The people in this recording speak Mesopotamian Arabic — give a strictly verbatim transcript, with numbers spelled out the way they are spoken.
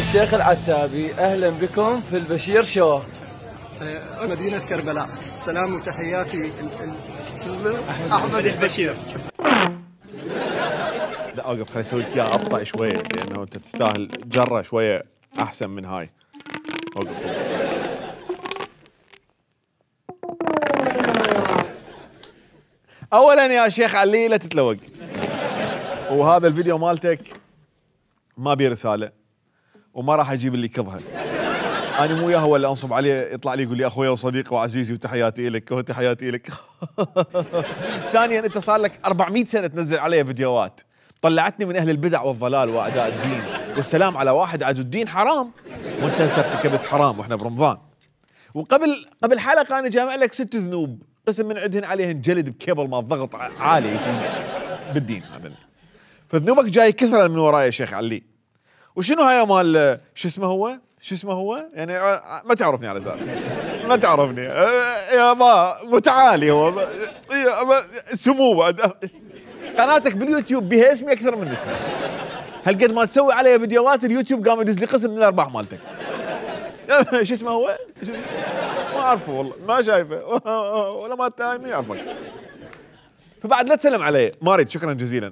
الشيخ العتابي، أهلا بكم في البشير شو. مدينة كربلاء. سلام وتحياتي أحمد البشير. لا اوقف، خليني اسوي لك اياها ابطأ شويه لانه انت تستاهل جره شويه احسن من هاي. اوقف. اولا يا شيخ علي لا تتلوق، وهذا الفيديو مالتك ما بيه رساله وما راح اجيب اللي يكظها. انا مو وياه هو اللي انصب عليه يطلع لي يقول لي اخويا وصديقي وعزيزي وتحياتي لك وتحياتي لك. ثانيا انت صار لك أربعمئة سنه تنزل علي فيديوهات طلعتني من اهل البدع والضلال واعداء الدين، والسلام على واحد عز الدين حرام، وانت هسه ارتكبت حرام واحنا برمضان. وقبل قبل حلقه انا جامع لك ست ذنوب قسم من عندهن عليهن جلد بكيبل مال ضغط عالي بالدين هذا. فذنوبك جاي كثره من وراي يا شيخ علي. وشنو هاي مال شو اسمه هو؟ شو اسمه هو؟ يعني ما تعرفني على اساس ما تعرفني يا ما متعالي هو سمو بعد. قناتك باليوتيوب بها اسمي اكثر من اسمي. هالقد ما تسوي علي فيديوهات اليوتيوب قام يدز لي قسم من الارباح مالتك. شو اسمه هو؟ ما اعرفه والله، ما شايفه ولا ما ما يعرفك. فبعد لا تسلم علي، ما اريد، شكرا جزيلا.